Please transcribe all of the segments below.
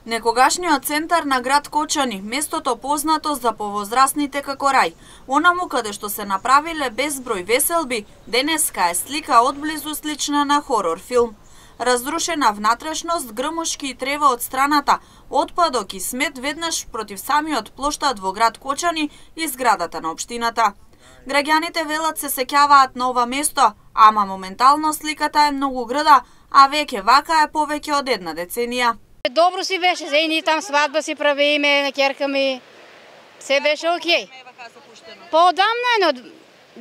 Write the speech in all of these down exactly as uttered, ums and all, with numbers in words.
Некогашниот центар на град Кочани, местото познато за повозрасните како рај, онаму каде што се направиле безброј веселби, денеска е слика одблизу слична на хорор филм. Разрушена внатрешност, грмушки и трева од страната, отпадок и смет веднаш против самиот плоштад во град Кочани и зградата на општината. Граѓаните велат се сеќаваат на ова место, ама моментално сликата е многу грда, а веќе вака е повеќе од една деценија. Добро си беше, за и ние там свадба си правиме на ќерка ми. Се беше окей. Поодамна, но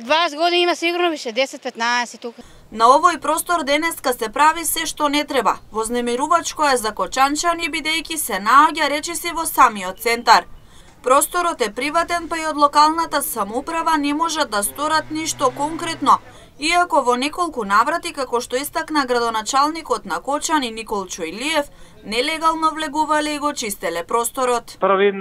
дваесет години има сигурно више, десет-петнаесет тука. На овој простор денеска се прави се што не треба. Вознемирувачко е за кочанчани бидејќи се наоѓа речиси во самиот центар. Просторот е приватен, па и од локалната самоуправа не можат да сторат ништо конкретно, иако во неколку наврати, како што истакна градоначалникот на Кочани Никол Чојлиев, нелегално влегувале и го чистеле просторот. Првин,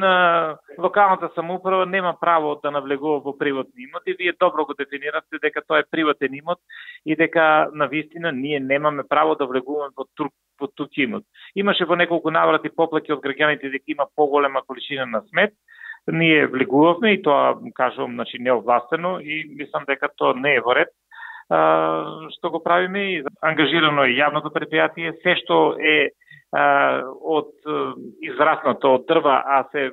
локалната самоуправа нема право да навлегува во приватни имоти. Вие добро го дефинирате дека тоа е приватен имот и дека навистина ние немаме право да влегуваме во тук, во тук имот. Имаше во неколку наврати поплаки од граѓаните дека има поголема количина на смет. Ние влегувавме и тоа, кажувам, значи неовластено и мислам дека тоа не е во ред. Uh, што го правиме и ангажирано е јавното предпријатие, се што е uh, од uh, израснато од дрва, а се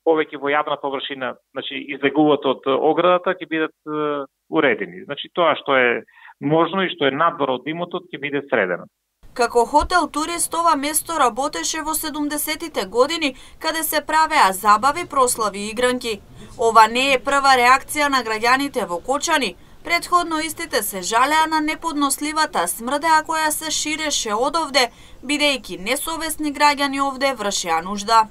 повеќе во јавна површина, значи излегуваат од оградата, ќе бидат uh, уредени. Значи тоа што е можно и што е надвор од имотот ќе биде средено. Како хотел турист ова место работеше во седумдесетите години, каде се правеа забави, прослави и игранки. Ова не е прва реакција на граѓаните во Кочани. Предходно истите се жалеа на неподносливата смрдеа која се ширеше од овде, бидејќи несовесни граѓани овде вршеа нужда.